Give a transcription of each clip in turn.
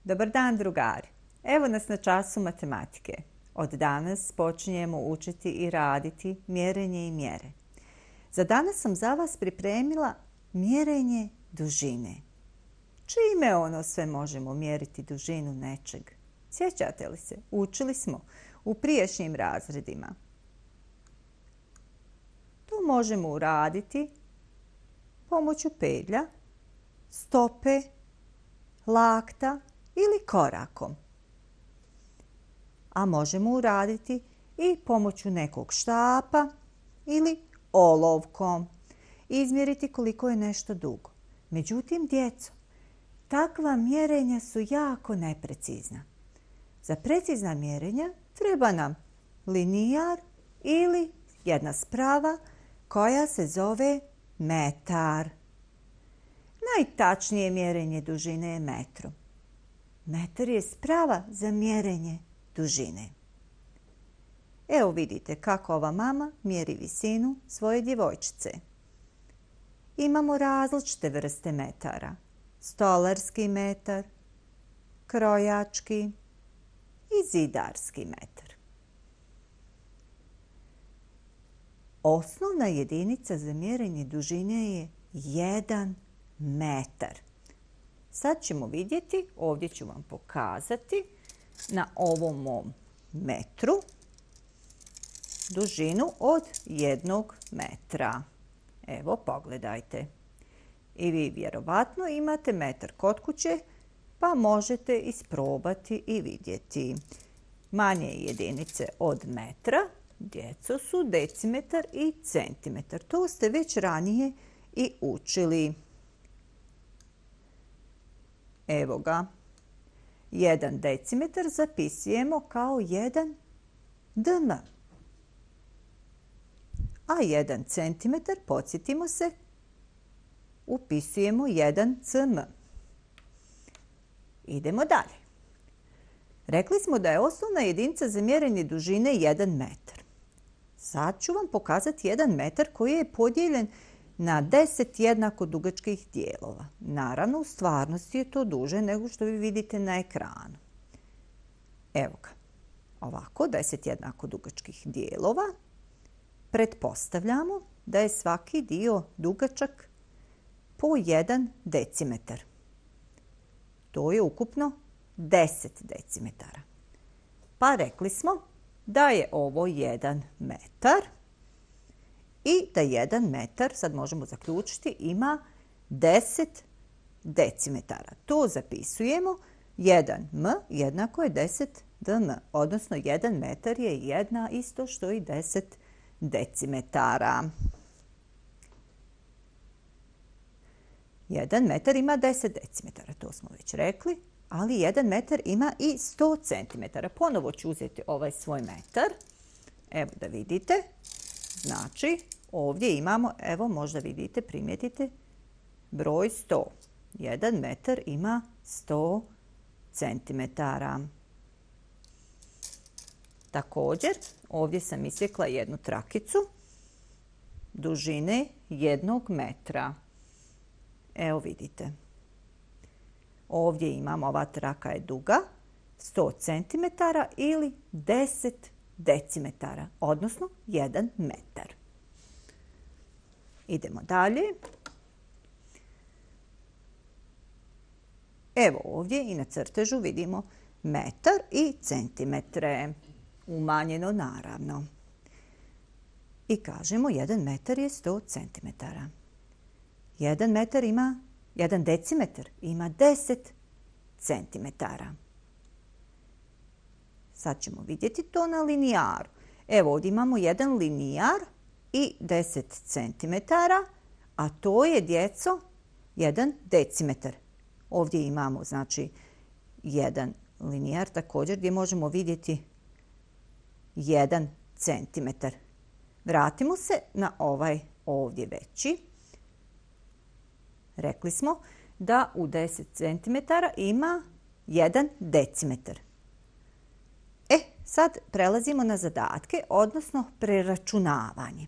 Dobar dan, drugari. Evo nas na času matematike. Od danas počinjemo učiti i raditi mjerenje i mjere. Za danas sam za vas pripremila mjerenje dužine. Čime ono sve možemo mjeriti dužinu nečeg? Sjećate li se? Učili smo u prijašnjim razredima. To možemo uraditi pomoću pedlja, stope, lakta ili korakom. A možemo uraditi i pomoću nekog štapa ili olovkom. Izmjeriti koliko je nešto dugo. Međutim, djeco, takva mjerenja su jako neprecizna. Za precizna mjerenja treba nam linijar ili jedna sprava koja se zove metar. Najtačnije mjerenje dužine je metrom. Metar je sprava za mjerenje dužine. Evo vidite kako ova mama mjeri visinu svoje djevojčice. Imamo različite vrste metara. Stolarski metar, krojački i zidarski metar. Osnovna jedinica za mjerenje dužine je 1 metar. Sad ćemo vidjeti, ovdje ću vam pokazati na ovom mom metru dužinu od 1 metra. Evo, pogledajte. I vi vjerovatno imate metar kod kuće, pa možete isprobati i vidjeti. Manje jedinice od metra, djeco, su decimetar i centimetar. To ste već ranije i učili. Evo ga. 1 decimetar zapisujemo kao 1 dm. A 1 centimetar, podsjetimo se, upisujemo 1 cm. Idemo dalje. Rekli smo da je osnovna jedinica za mjerenje dužine 1 metar. Sad ću vam pokazati 1 metar koji je podijeljen na 10 jednako dugačkih dijelova. Naravno, u stvarnosti je to duže nego što vi vidite na ekranu. Evo ga. Ovako, 10 jednako dugačkih dijelova. Pretpostavljamo da je svaki dio dugačak po 1 decimetar. To je ukupno 10 decimetara. Pa rekli smo da je ovo 1 metar i da 1 metar, sad možemo zaključiti, ima 10 decimetara. To zapisujemo. 1m jednako je 10 dm, odnosno 1 metar je isto što i 10 decimetara. 1 metar ima 10 decimetara, to smo već rekli, ali 1 metar ima i 100 centimetara. Ponovo ću uzeti ovaj svoj metar. Evo da vidite. Znači, ovdje imamo, evo možda vidite, primijetite, broj 100. 1 metar ima 100 centimetara. Također, ovdje sam isjekla jednu trakicu dužine 1 metra. Evo vidite. Ovdje imamo, ova traka je duga 100 cm ili 10 decimetara, odnosno 1 metar. Idemo dalje. Evo ovdje i na crtežu vidimo metar i centimetre. Umanjeno naravno. I kažemo 1 metar je 100 centimetara. 1 decimetar ima 10 centimetara. Sad ćemo vidjeti to na linijaru. Evo ovdje imamo 1 linijar i 10 centimetara, a to je, djeco, 1 decimetar. Ovdje imamo, znači, 1 linijar također gdje možemo vidjeti 1 centimetar. Vratimo se na ovaj ovdje veći. Rekli smo da u 10 cm ima 1 decimetar. Sad prelazimo na zadatke, odnosno preračunavanje.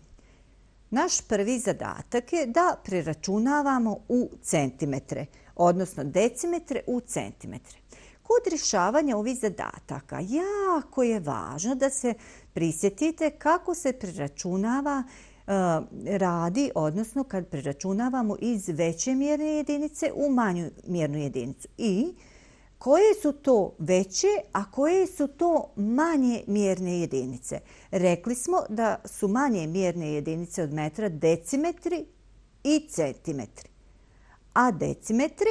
Naš prvi zadatak je da preračunavamo u centimetre, odnosno decimetre u centimetre. Kod rješavanja ovih zadataka jako je važno da se prisjetite kako se preračunava radi, odnosno kad preračunavamo iz veće mjerne jedinice u manju mjernu jedinicu. I koje su to veće, a koje su to manje mjerne jedinice? Rekli smo da su manje mjerne jedinice od metra decimetri i centimetri. A decimetri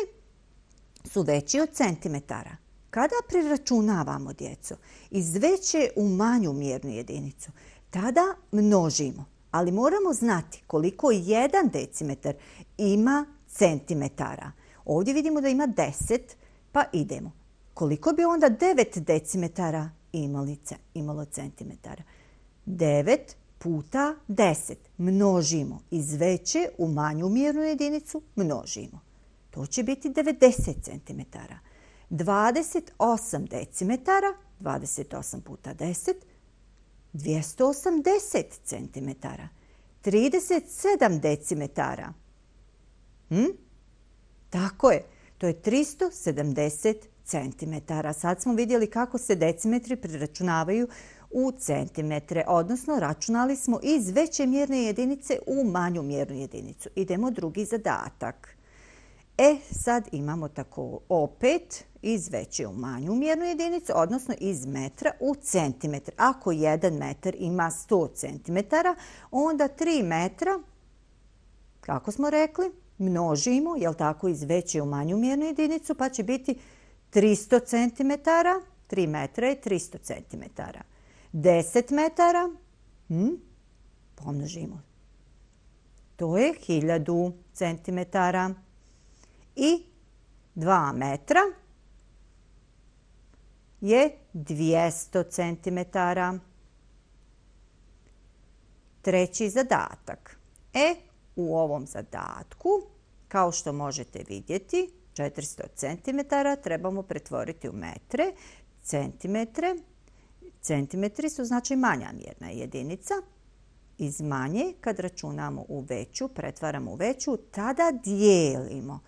su veći od centimetara. Kada preračunavamo, djeco, iz veće u manju mjernu jedinicu, tada množimo. Ali moramo znati koliko 1 decimetar ima centimetara. Ovdje vidimo da ima 10, pa idemo. Koliko bi onda 9 decimetara imalo centimetara? 9 puta 10. Množimo. Iz veće u manju mjernu jedinicu množimo. To će biti 90 centimetara. 28 decimetara, 28 puta 10, 280 centimetara. 37 decimetara. Tako je. To je 370 centimetara. Sad smo vidjeli kako se decimetri preračunavaju u centimetre, odnosno računali smo iz veće mjerne jedinice u manju mjernu jedinicu. Idemo drugi zadatak. Sad imamo tako opet iz veće u manju mjernu jedinicu, odnosno iz metra u centimetre. Ako 1 metar ima 100 centimetara, onda 3 metra, kako smo rekli, množimo, jel tako, iz veće u manju mjernu jedinicu, pa će biti 300 centimetara. 3 metra je 300 centimetara. 10 metara, pomnožimo. To je 1000 centimetara. I 2 metra je 200 centimetara. Treći zadatak. U ovom zadatku, kao što možete vidjeti, 400 centimetara trebamo pretvoriti u metre, centimetre. Centimetri su znači manja mjerna jedinica. Iz manje, kad računamo u veću, pretvaramo u veću, tada dijelimo.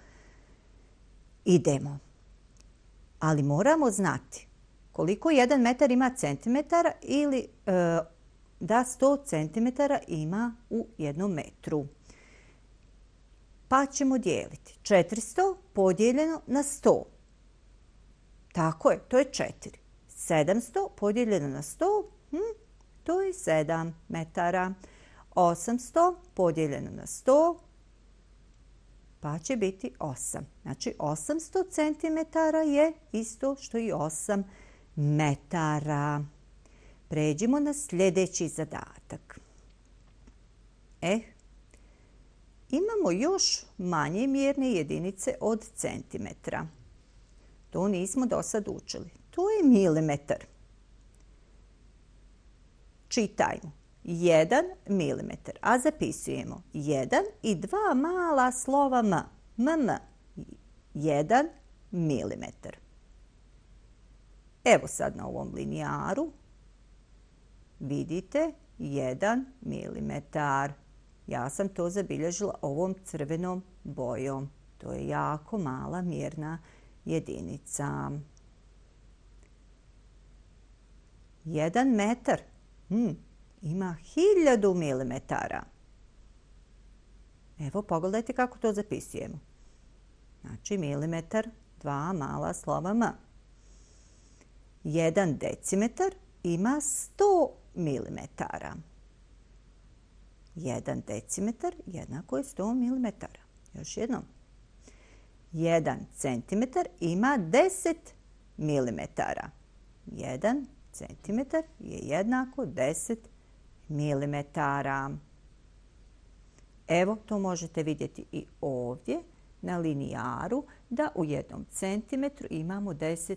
Idemo. Ali moramo znati koliko 1 metar ima centimetara ili da 100 centimetara ima u 1 metru. Pa ćemo dijeliti 400 podijeljeno na 100. Tako je, to je 4. 700 podijeljeno na 100, to je 7 metara. 800 podijeljeno na 100, pa će biti 8. Znači 800 centimetara je isto što i 8 metara. Pređimo na sljedeći zadatak. Imamo još manje mjerne jedinice od centimetra. To nismo do sad učili. To je milimetar. Čitajmo. 1 milimetar, a zapisujemo 1 i 2 mala slova m. 1 milimetar. Evo sad na ovom linijaru vidite 1 milimetar. Ja sam to zabilježila ovom crvenom bojom. To je jako mala mjerna jedinica. 1 metar ima 1000 milimetara. Evo, pogledajte kako to zapisujemo. Znači, milimetar, 2 mala slova m. 1 decimetar ima 100 milimetara. 1 decimetar jednako je 100 milimetara. Još jednom. 1 centimetar ima 10 milimetara. 1 centimetar je jednako 10 milimetara. Evo, to možete vidjeti i ovdje na linijaru da u 1 centimetru imamo 10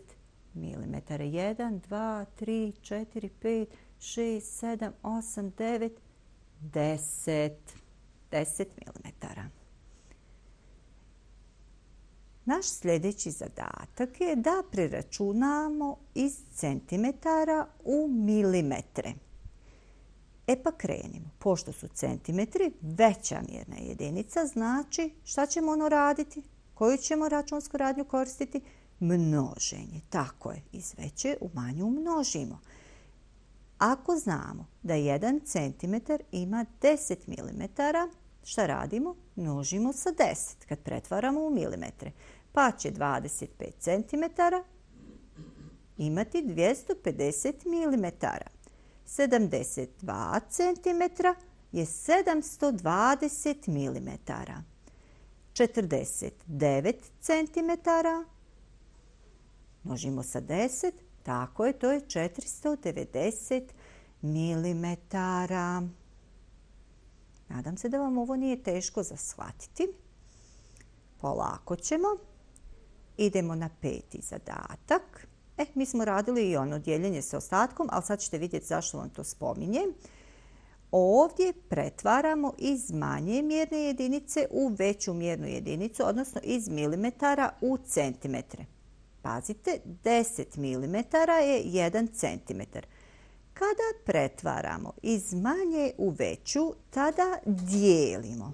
milimetara. 1, 2, 3, 4, 5, 6, 7, 8, 9, 10 milimetara. Naš sljedeći zadatak je da preračunamo iz centimetara u milimetre. Pa krenimo. Pošto su centimetri veća mjerna jedinica, znači šta ćemo raditi? Koju ćemo računsku radnju koristiti? množenje. Tako je, iz veće u manju množimo. Ako znamo da 1 cm ima 10 mm, šta radimo? Množimo sa 10 kad pretvaramo u milimetre. Pa će 25 cm imati 250 mm. 72 cm je 720 mm. 49 cm množimo sa 10, tako je, to je 490 mm. Nadam se da vam ovo nije teško za shvatiti. Polako ćemo. Idemo na 5. zadatak. Mi smo radili i ono dijeljenje sa ostatkom, ali sad ćete vidjeti zašto vam to spominjem. Ovdje pretvaramo iz manje mjerne jedinice u veću mjernu jedinicu, odnosno iz milimetara u centimetre. Pazite, 10 mm je 1 cm. Kada pretvaramo iz manje u veću, tada dijelimo.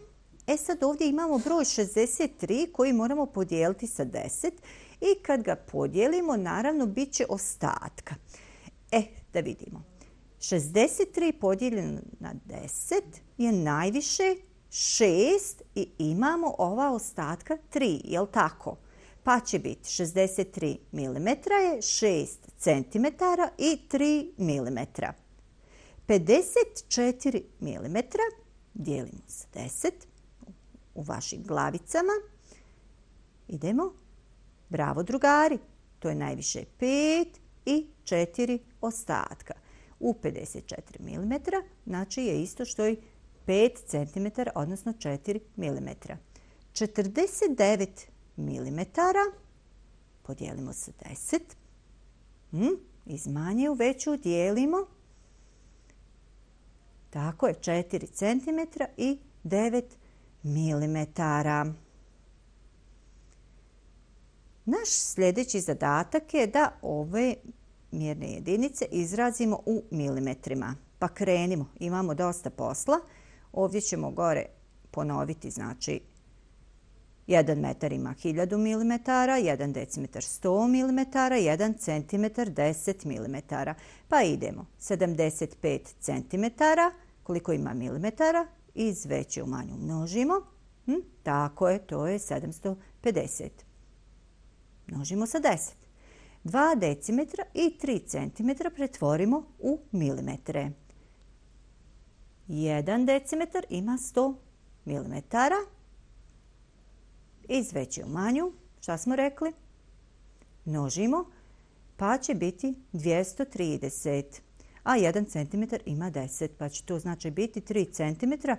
Sad ovdje imamo broj 63 koji moramo podijeliti sa 10 i kad ga podijelimo, naravno, bit će ostatka. Da vidimo. 63 podijeljeno na 10 je najviše 6 i imamo ova ostatka 3, jel tako? Pa će biti 63 mm je 6 cm i 3 mm. 54 mm dijelimo sa 10 u vašim glavicama. Idemo. Bravo, drugari. To je najviše 5 i 4 ostatka. U 54 mm znači je isto što i 5 cm, odnosno 4 mm. 49 mm podijelimo sa 10. Iz manje u veću dijelimo. Tako je, 4 cm i 9 mm. Naš sljedeći zadatak je da ove mjerne jedinice izrazimo u milimetrima. Pa krenimo, imamo dosta posla. Ovdje ćemo gore ponoviti, znači 1 metar ima 1000 mm, 1 decimetar 100 mm, 1 centimetar 10 mm. Pa idemo, 75 cm, koliko ima milimetara, iz veće u manju množimo. Tako je, to je 750. Množimo sa 10. 2 decimetra i 3 centimetra pretvorimo u milimetre. 1 decimetar ima 100 mm. Iz veće u manju, šta smo rekli? Množimo, pa će biti 230. A 1 centimetar ima 10, pa će to znači biti 3 centimetra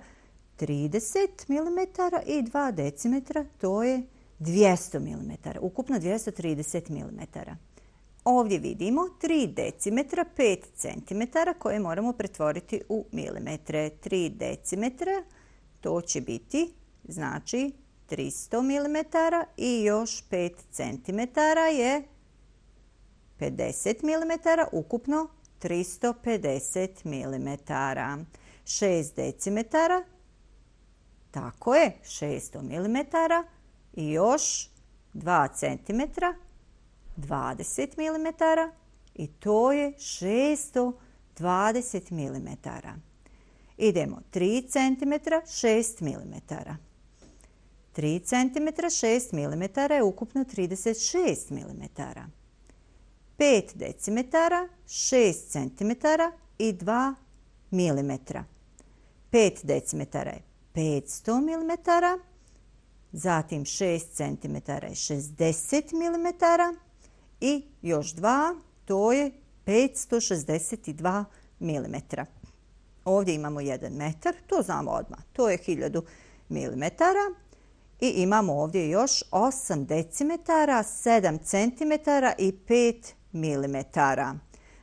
30 mm i 2 decimetra, to je 200 mm. Ukupno 230 mm. Ovdje vidimo 3 decimetra, 5 cm koje moramo pretvoriti u milimetre. 3 decimetra, to će biti, znači, 300 mm i još 5 cm je 50 mm, ukupno 350 mm. 6 decimetara, tako je, 600 mm i još 2 cm, 20 mm i to je 620 mm. Idemo 3 cm, 6 mm. 3 cm, 6 mm je ukupno 36 mm. 5 decimetara, 6 cm i 2 mm. 5 decimetara je 500 mm, zatim 6 cm je 60 mm i još 2, to je 562 mm. Ovdje imamo 1 metar, to znamo odmah, to je 1000 mm. I imamo ovdje još 8 decimetara, 7 centimetara i 5 milimetara.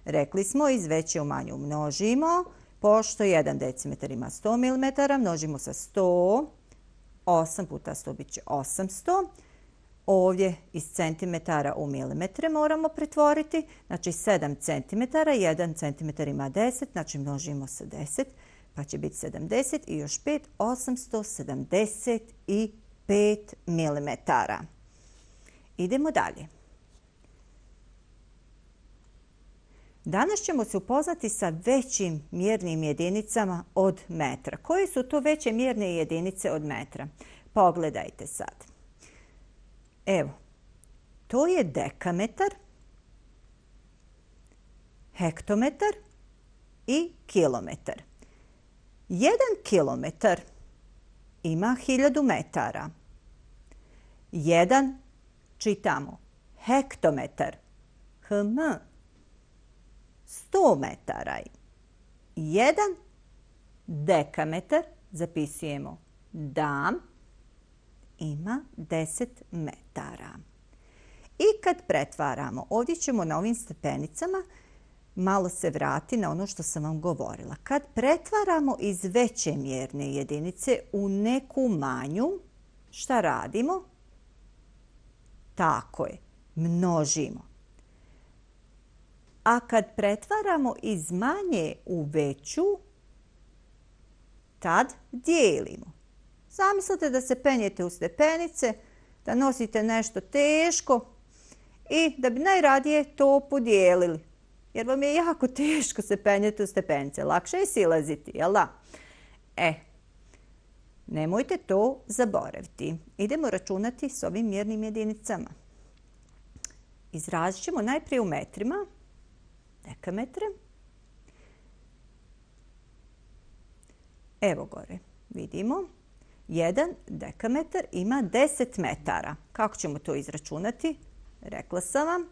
Rekli smo, iz veće u manju množimo, pošto 1 decimetar ima 100 mm, množimo sa 100, 8 puta 100 bit će 800. Ovdje iz centimetara u milimetre moramo pretvoriti, znači 7 centimetara, 1 centimetar ima 10, znači množimo sa 10, pa će biti 70 i još 5, 875 milimetara. Idemo dalje. Danas ćemo se upoznati sa većim mjernim jedinicama od metra. Koje su to veće mjerne jedinice od metra? Pogledajte sad. Evo, to je dekametar, hektometar i kilometar. 1 kilometar ima 1000 metara. 1, čitamo, hektometar, 100 metara. 1 dekametar, zapisujemo dam, ima 10 metara. I kad pretvaramo, ovdje ćemo na ovim stepenicama malo se vrati na ono što sam vam govorila. Kad pretvaramo iz veće mjerne jedinice u neku manju, šta radimo? Tako je, množimo. A kad pretvaramo iz manje u veću, tad dijelimo. Zamislite da se penjete u stepenice, da nosite nešto teško i da bi najradije to podijelili. Jer vam je jako teško se penjeti u stepenice. Lakše je silaziti, jel da? Nemojte to zaboraviti. Idemo računati s ovim mjernim jedinicama. Izrazit ćemo najprije u metrima. Dekametre. Evo gore, vidimo. 1 dekametar ima 10 metara. Kako ćemo to izračunati? Rekla sam vam,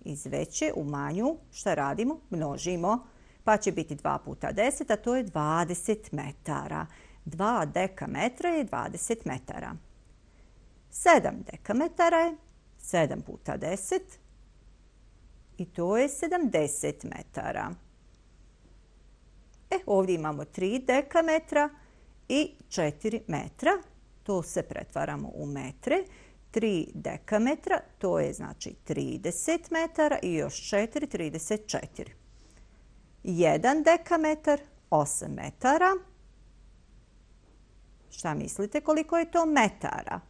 iz veće u manju, šta radimo? Množimo, pa će biti 2 puta 10, a to je 20 metara. 2 dekametra je 20 metara. 7 dekametara je 7 puta 10 i to je 70 metara. Ovdje imamo 3 dekametra i 4 metra. To se pretvaramo u metre. 3 dekametra, to je znači 30 metara i još 4, 34. 1 dekametar, 8 metara. Šta mislite koliko je to metara?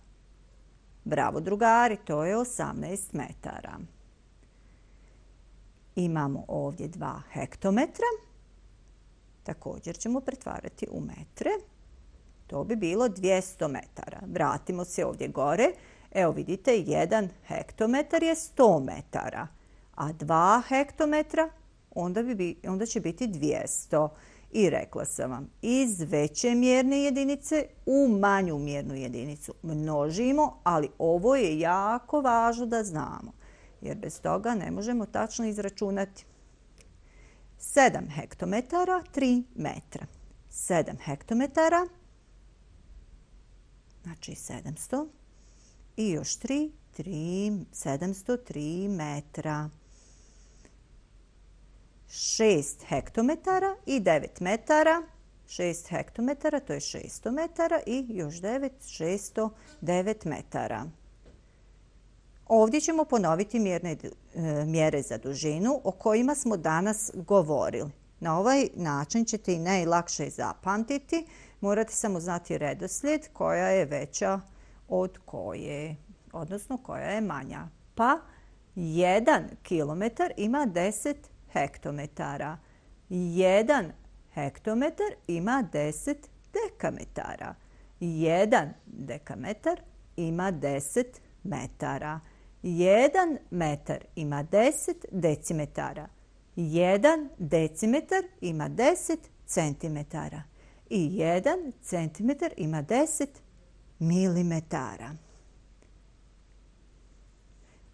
Bravo drugari, to je 18 metara. Imamo ovdje 2 hektometra. Također ćemo pretvarati u metre. To bi bilo 200 metara. Vratimo se ovdje gore. Evo vidite, 1 hektometar je 100 metara, a 2 hektometra onda će biti 200. I rekla sam vam, iz veće mjerne jedinice u manju mjernu jedinicu množimo, ali ovo je jako važno da znamo, jer bez toga ne možemo tačno izračunati. 7 hektometara, 3 metra. 7 hektometara, znači 700. I još 703 metra. 6 hektometara i 9 metara. 6 hektometara, to je 600 metara i još 9, 609 metara. Ovdje ćemo ponoviti mjere za dužinu o kojima smo danas govorili. Na ovaj način ćete i najlakše zapamtiti. Morate samo znati redoslijed koja je veća od koje, odnosno koja je manja. Pa 1 kilometar ima 10 hektometara. 1 hektometar ima 10 dekametara. 1 dekametar ima 10 metara. 1 metar ima 10 decimetara. 1 decimetar ima 10 centimetara. I 1 centimetar ima 10 milimetara.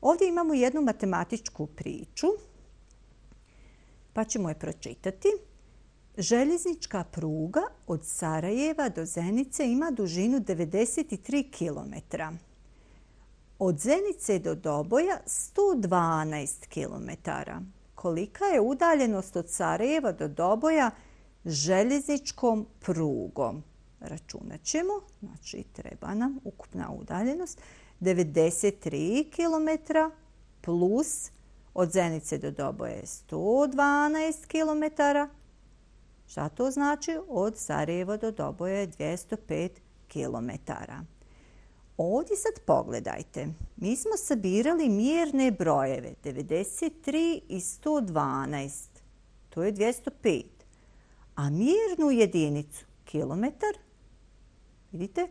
Ovdje imamo jednu matematičku priču, pa ćemo je pročitati. Željeznička pruga od Sarajeva do Zenice ima dužinu 93 km. Od Zenice do Doboja 112 km. Kolika je udaljenost od Sarajeva do Doboja željezničkom prugom? Računat ćemo, znači treba nam ukupna udaljenost 93 km plus od Zenice do Doboja je 112 km. Šta to znači? Od Sarajeva do Doboja je 205 km. Ovdje sad pogledajte. Mi smo sabirali mjerne brojeve 93 i 112. To je 205. A mjernu jedinicu, kilometar, vidite,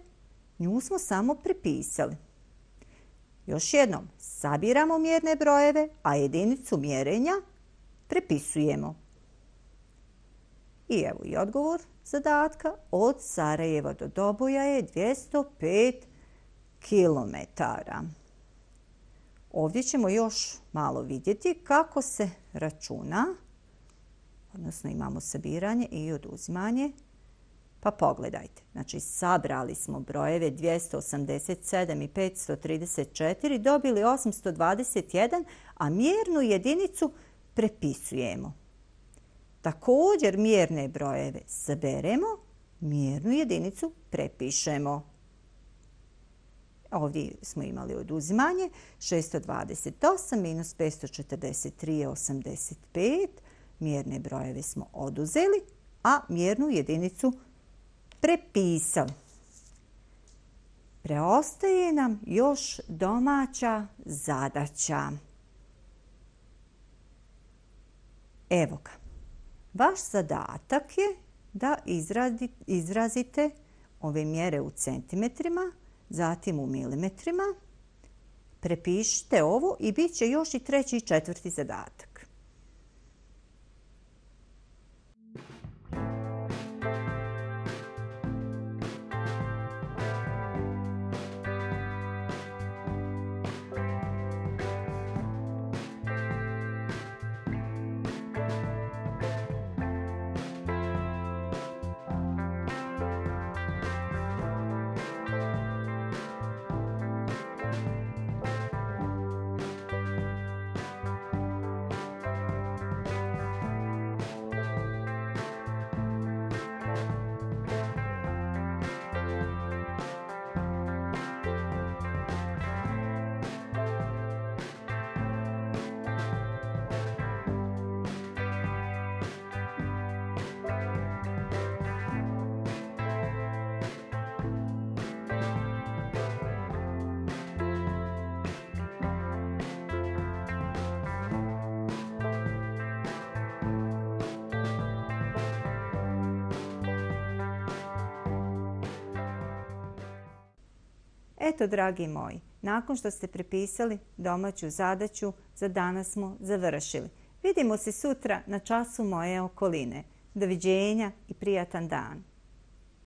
nju smo samo prepisali. Još jednom, sabiramo mjerne brojeve, a jedinicu mjerenja prepisujemo. I evo i odgovor zadatka. Od Sarajeva do Doboja je 205 kilometara. Ovdje ćemo još malo vidjeti kako se računa, odnosno imamo sabiranje i oduzimanje. Pa pogledajte, znači sabrali smo brojeve 287 i 534, dobili 821, a mjernu jedinicu prepisujemo. Također mjerne brojeve saberemo, mjernu jedinicu prepišemo. Ovdje smo imali oduzimanje, 628 minus 543 je 85, mjerne brojeve smo oduzeli, a mjernu jedinicu prepisali. Preostaje nam još domaća zadaća. Evo ga. Vaš zadatak je da izrazite ove mjere u centimetrima, zatim u milimetrima. Prepišite ovo i bit će još i treći i četvrti zadatak. Eto, dragi moji, nakon što ste prepisali domaću zadaću, za danas smo završili. Vidimo se sutra na času moje okoline. Doviđenja i prijatan dan.